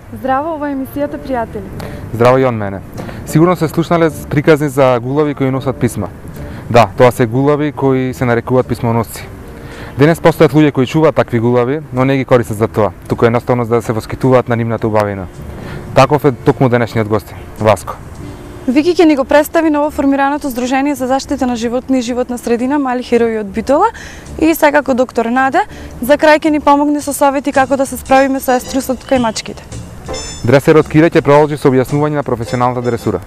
Здраво, ова е емисијата Пријатели. Здраво и од мене. Сигурно се слушнале приказни за гулави кои носат писма. Да, тоа се гулави кои се нарекуваат писмоносци. Денес постојат луѓе кои чуваат такви гулави, но не ги користат за тоа, туку едноставно за да се воскитуваат на нивната убавина. Таков е токму денешниот гостин, Васко. Вики ќе ни го представи новоформираното Здружение за заштита на животни и животна средина Мали херои од Битола и секако доктор Наде, за крај ќе ни помогне со совети како да се справиме со еструсот кај мачките. Дресерот Кире ќе продолжи со објаснување на професионалната дресура.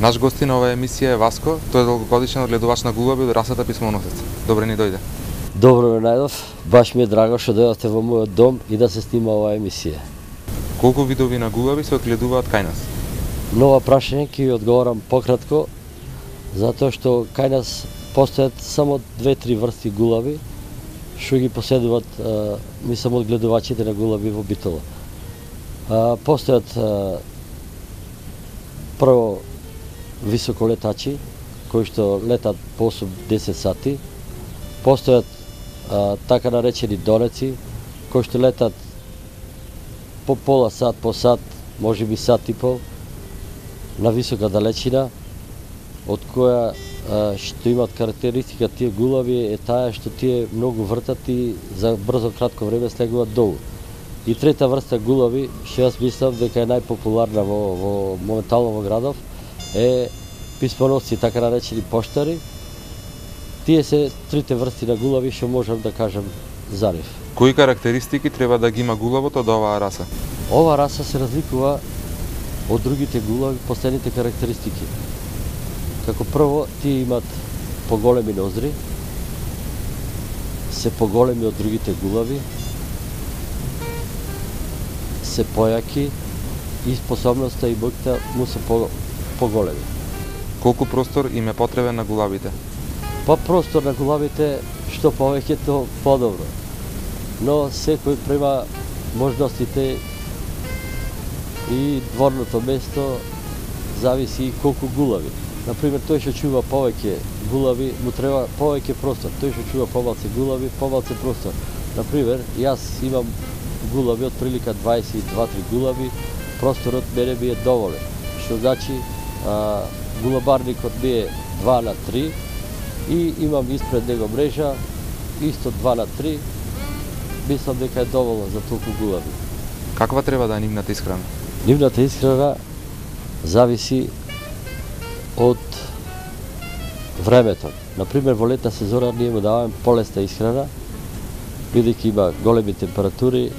Наш гостин на оваа емисија е Васко, тој е долгогодишен одгледувач на гулави од расата писмоносец. Добре ни дојде. Добро ме најдов, баш ми е драго што дојдовте во мојот дом и да се снима оваа емисија. Колку видови на гулави се одгледуваат кај нас? Нова прашање ќе ви одговорам пократко, затоа што кај нас постојат само 2-3 врсти гулави, што ги поседуваат, мислам, одгледувачите на гулави во Битола. Постојат прво високолетачи, кои што летат по 8-10 сати, постојат така наречени донеци, кои што летат по пола сат, по сат, можеби сат и пол, на висока далечина, од која што имаат карактеристика тие гулави е таа што тие многу вртат и за брзо кратко време слегуваат долу. И трета врста гулави, што јас мислам дека е најпопуларна во моментално во градов, е писмоносци, така наречени поштари. Тие се трите врсти на гулави што можам да кажам за нив. Кои карактеристики треба да ги има гулавот од оваа раса? Оваа раса се разликува од другите гулави по следните карактеристики. Како прво, тие имат поголеми ноздри, се поголеми од другите гулави, се појаки и способноста и моќта му се поголеми. Колку простор им е потребен на гулавите? Па простор на гулавите, што повеќе то подобро. Но секој према можностите и дворното место зависи и колку гулави. Например, тој што чува повеќе гулави, му треба повеќе простор. Тој што чува помалце гулави, помалце простор. Например, јас имам гулави од прилика 22-3 гулави, просторот мене ми е доволен. Што значи, гулабарникот ми е 2:3 и имам испред него мрежа, исто 2:3, мислам дека е доволно за толку гулави. Каква треба да е нивната исхрана? Нивната исхрана зависи од времето. Например, во летна сезона ние му даваме полесна исхрана, бидејќи има големи температури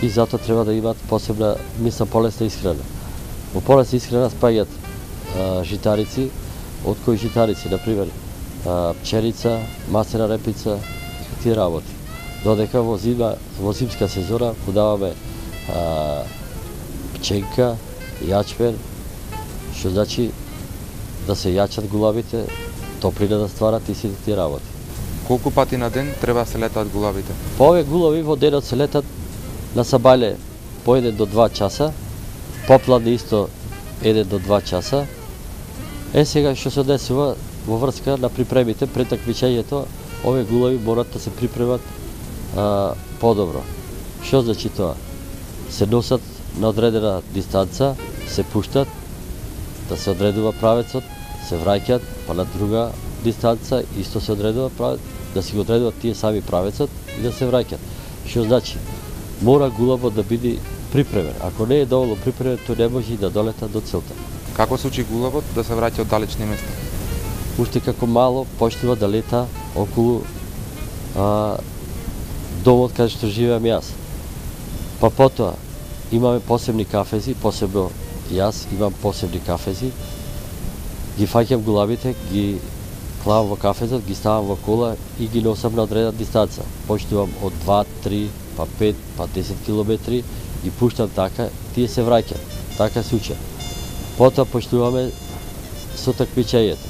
и затоа треба да имаат посебна, мислам, полесна исхрана. Во полесна исхрана спаѓаат житарици, од кои житарици, например, пченица, маслена репица и тие работи. Додека во зимска сезона му даваме пченка, јачмен, што значи да се јачат гулавите, топлина да стварат и сите тие работи. Колку пати на ден треба да се летаат гулавите? По овие гулави во денот се летат на сабајле по 1 до 2 часа, попладне исто 1 до 2 часа. Сега што се десува во врска на припремите пред такмичењето, овие гулави морат да се припремат подобро. Што значи тоа? Се носат на одредена дистанца, се пуштат, да се одредува правецот, се враќаат, па на друга дистанца исто се одредува правец, да си го одредуваат тие сами правецот и да се враќаат. Што значи? Мора гулавот да биде припремен. Ако не е доволно припремен, тој не може и да долета до целта. Како се учи гулавот да се враќа од далечни места? Уште како мало почнува да лета околу домот каде што живеам јас. Па потоа имаме посебни кафези, посебно јас имам посебни кафези. Ги фаќам гулавите, ги клавам во кафезот, ги ставам во кола и ги носам на одредена дистанца. Почнувам од 2, 3, па 5, па 10 километри, ги пуштам така, тие се враќаат. Така се учат. Потоа почнуваме со такмичењето.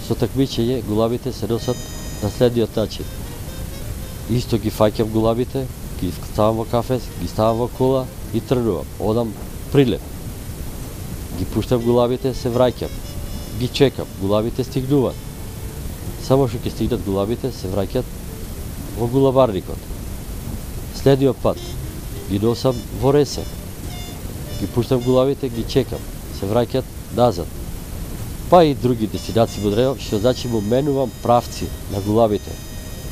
Со такмичење гулавите се носат на следниот начин. Исто ги фаќам гулавите, ги ставам во кафез, ги ставам во кола и тргнувам. Одам прилеп. Ги пуштам гулавите, се враќам. Ги чекам, гулавите стигнуваат. Само што ќе стигнат гулабите, се враќат во гулабарникот. Следниот пат ги носам во Ресе. Ги пуштам гулабите, ги чекам, се враќат назад. Па и други дестинации во Древо, што значи му менувам правци на гулабите.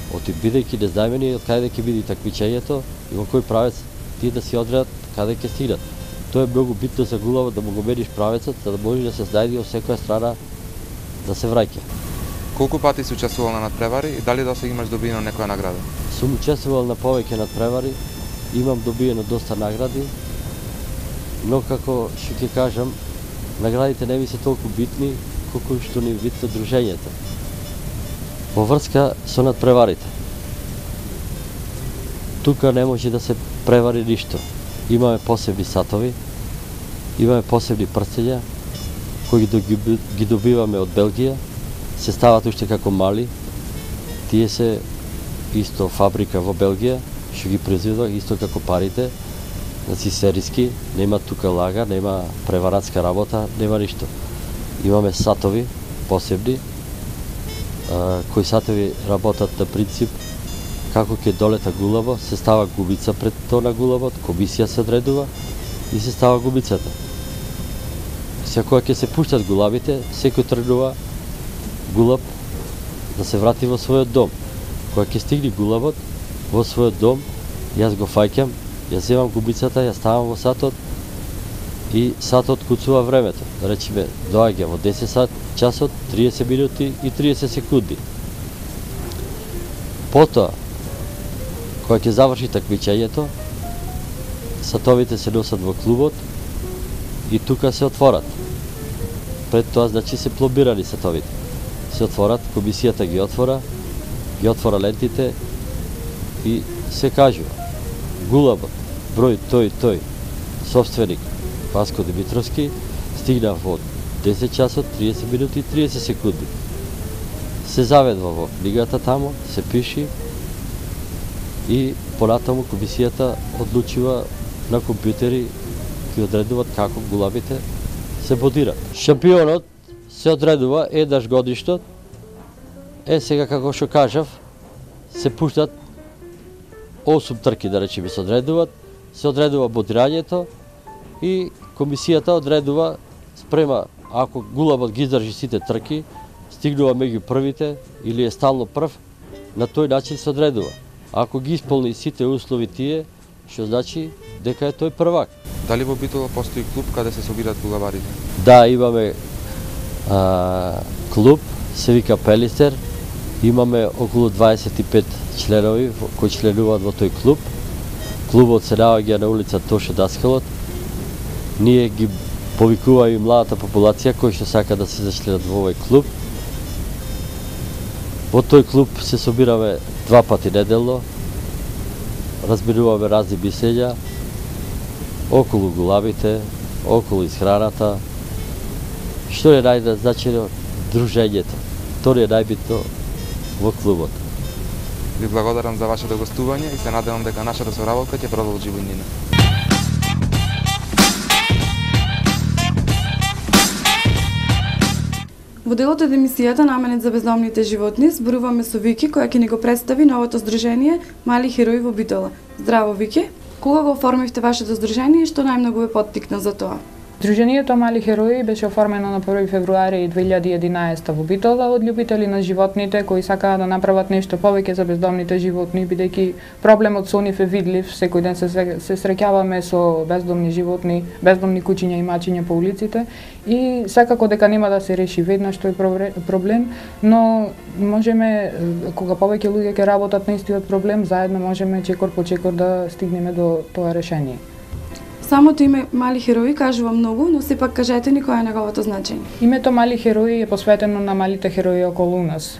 Бидејќи незнаемени од каде ќе биде такмичењето и во кој правец тие да си одредат каде ќе стигнат. Тоа е многу битно за гулабот да му го мениш правецот, за да може да се знајде од секоја страна да се враќа. Колку пати си учествувал на надпревари и дали досега имаш добиено некоја награда? Сум учествувал на повеќе надпревари, имам добиено доста награди, но како што ќе кажам, наградите не ми се толку битни колку што ни битно дружењето. Во врска со надпреварите. Тука не може да се превари ништо. Имаме посебни сатови, имаме посебни прстења кои ги добиваме од Белгија, се стават уште како мали. Тие се исто фабрика во Белгија, што ги произведува исто како парите, значи сериски, нема тука лага, нема преваратска работа, нема ништо. Имаме сатови посебни, кои сатови работат на принцип како ќе долета гулаба, се става губица пред тоа на гулабот, комисија се одредува и се става губицата. Кога ќе се пуштат гулабите, секој тргнува гулаб да се врати во својот дом. Кога ќе стигне гулабот во својот дом, јас го фаќам, ја земам губицата, ја ставам во сатот и сатот куцува времето. Да речеме, доаѓа во 10 часот, 30 минути и 30 секунди. Потоа, кога ќе заврши такмичењето, сатовите се носат во клубот и тука се отворат. Пред тоа, значи, се пломбирани сатовите. Се отворат, комисијата ги отвора лентите и се кажува гулабот, број тој и тој, собственик Васко Димитровски, стигна во 10 часот, 30 минути и 30 секунди. Се заведува во книгата тамо, се пиши и понатаму комисијата одлучува на компјутери кои одредуваат како гулабите се бодират. Шампионот се одредува еднаш годишно. Сега како што кажав, се пуштат 8 трки, да речеме, се одредуваат, се одредува бодирањето и комисијата одредува спрема, ако гулабот ги издржи сите трки, стигнува меѓу првите или е стално прв, на тој начин се одредува. Ако ги исполни сите услови тие, што значи дека е тој првак. Дали во Битола постои клуб каде се собираат гулабарите? Да, имаме клуб, се вика Пелистер. Имаме околу 25 членови кои членуваат во тој клуб. Клубот се наоѓа на улица Тоше Даскалот. Ние ги повикуваме и младата популација кои што сака да се зачленат во овој клуб. Во тој клуб се собираме 2 пати неделно. Разбируваме разни мислења околу гулабите, околу исхраната. Што е најзначајно? Дружењето. Тоа е најбитно во клубот. Ви благодарам за вашето гостување и се надевам дека нашата соработка ќе продолжи во иднина. Во делот од емисијата наменет за бездомните животни зборуваме со Вики, која ќе ни го представи новото здружение Мали херои во Битола. Здраво, Вики! Кога го оформивте вашето здружение и што најмногу ве поттикна за тоа? Здруженијето Мали херои беше оформено на 1 февруари 2011 во Битола од љубители на животните кои сакаат да направат нешто повеќе за бездомните животни, бидејќи проблемот со нив е видлив. Секој ден се среќаваме со бездомни животни, бездомни кучиња и мачиња по улиците и секако дека нема да се реши веднаш тој проблем, но можеме, кога повеќе луѓе ќе работат на истиот проблем, заедно можеме чекор по чекор да стигнеме до тоа решение. Самото име Мали херои кажува многу, но сепак кажете ни кој е неговото значење. Името Мали херои е посветено на малите херои околу нас.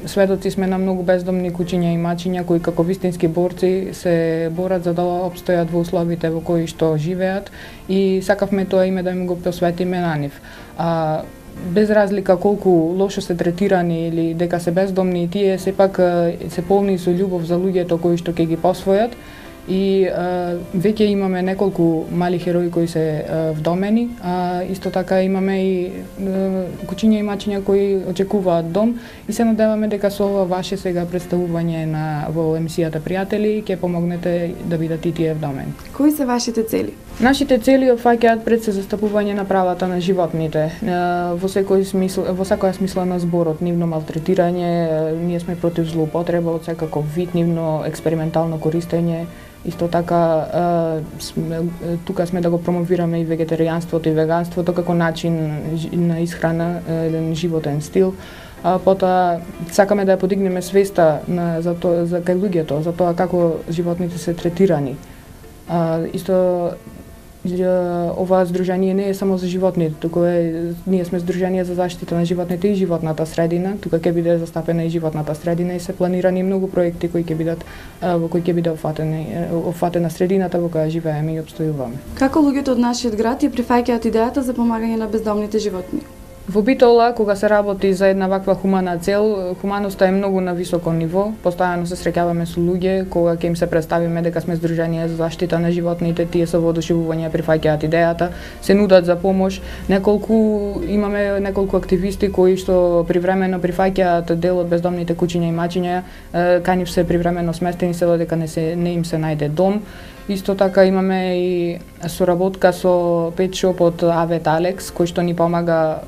Сведоци сме на многу бездомни кучиња и мачиња кои како вистински борци се борат за да опстојат во условите во кои што живеат и сакавме тоа име да им го посветиме на нив. Без разлика колку лошо се третирани или дека се бездомни, тие сепак се полни со љубов за луѓето кои што ќе ги посвојат и веќе имаме неколку мали херои кои се вдомени, а исто така имаме и кучиња и мачиња кои очекуваат дом и се надеваме дека со ова ваше сега представување во емисијата Пријатели ќе помогнете да бидат и тие вдомени. Кои се вашите цели? Нашите цели опфаќаат пред се застапување на правата на животните во секоја смисла на зборот, нивно малтретирање, ние сме против злоупотреба од секаков вид, нивно експериментално користење. Исто така, тука сме да го промовираме и вегетаријанството и веганството како начин на исхрана, еден животен стил. Потоа, сакаме да ја подигнеме свеста за кај луѓето, за тоа како животните се третирани. Исто, ова здружение не е само за животните, туку ние сме здружение за заштита на животните и животната средина. Тука ќе биде застапена и животната средина и се планирани многу проекти кои ќе бидат во кои ќе биде опфатена средината во која живееме и опстојуваме. Како луѓето од нашиот град ја прифаќаат идејата за помагање на бездомните животни? Во Битола, кога се работи за една ваква хумана цел, хуманоста е многу на високо ниво. Постојано се среќаваме со луѓе, кога ќе им се представиме дека сме здружение за заштита на животните, тие со воодушевување прифаќаат идејата, се нудат за помош. Имаме неколку активисти кои што привремено прифаќаат дел од бездомните кучиња и мачиња, кај нив се привремено сместени се додека не им се најде дом. Исто така имаме и соработка со Pet Shop од Авет Алекс, кој што ни помага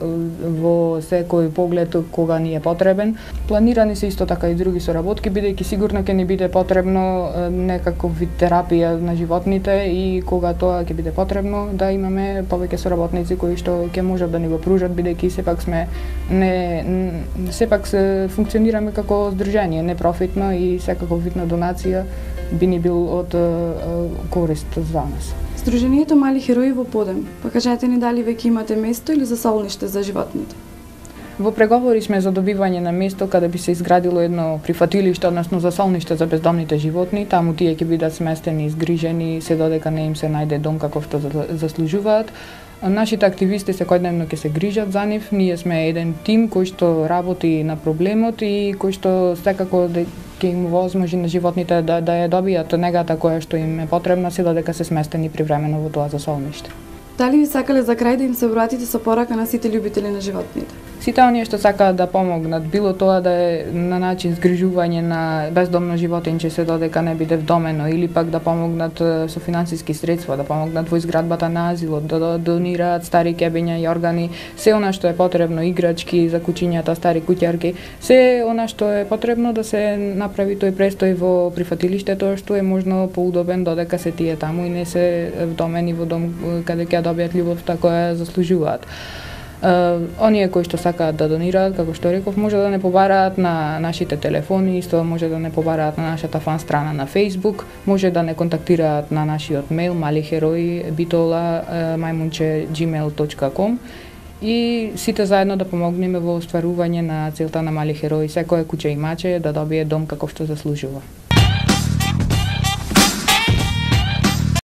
во секој поглед кога ни е потребен. Планирани се исто така и други соработки, бидејќи сигурно ќе ни биде потребно некаков вид терапија на животните и кога тоа ќе биде потребно да имаме повеќе соработници кои што ќе можат да ни го пружат, бидејќи сепак се функционираме како здружение, непрофитно и секаков вид на донација би ни бил од корист за нас. Сдруженијето Мали херои во Подем, кажете ни дали веќе имате место или засолниште за животните? Во преговори сме за добивање на место каде би се изградило едно прифатилиште, односно засолниште за бездомните животни. Таму тие ќе бидат сместени и згрижени се додека не им се најде дом каков што заслужуваат. Нашите активисти секојдневно ќе се грижат за нив. Ние сме еден тим кој што работи на проблемот и кој што секако ќе им возможи на животните да ја добијат негата која што им е потребна се додека се сместени привремено во тоа засолниште. Дали ви сакале за крај да им се обратите со порака на сите љубители на животните? Сите оние што сакаат да помогнат, било тоа да е на начин згрижување на бездомно животинче се додека не биде вдомено, или пак да помогнат со финансиски средства, да помогнат во изградбата на азилот, да донираат стари кебиња и органи, се она што е потребно, играчки за кучињата, стари куќарки, се она што е потребно да се направи тој престој во прифатилиштето, што е можно поудобен додека се тие таму и не се вдомени во дом каде ќе добијат љубовта која заслужуваат. Оние кои што сакаат да донираат, како што реков, може да не побараат на нашите телефони, исто може да не побараат на нашата фан страна на Facebook, може да не контактираат на нашиот мејл maliheroi@gmail.com и сите заедно да помогнеме во остварување на целта на Мали херои, секој куќе и маче да добие дом како што заслужува.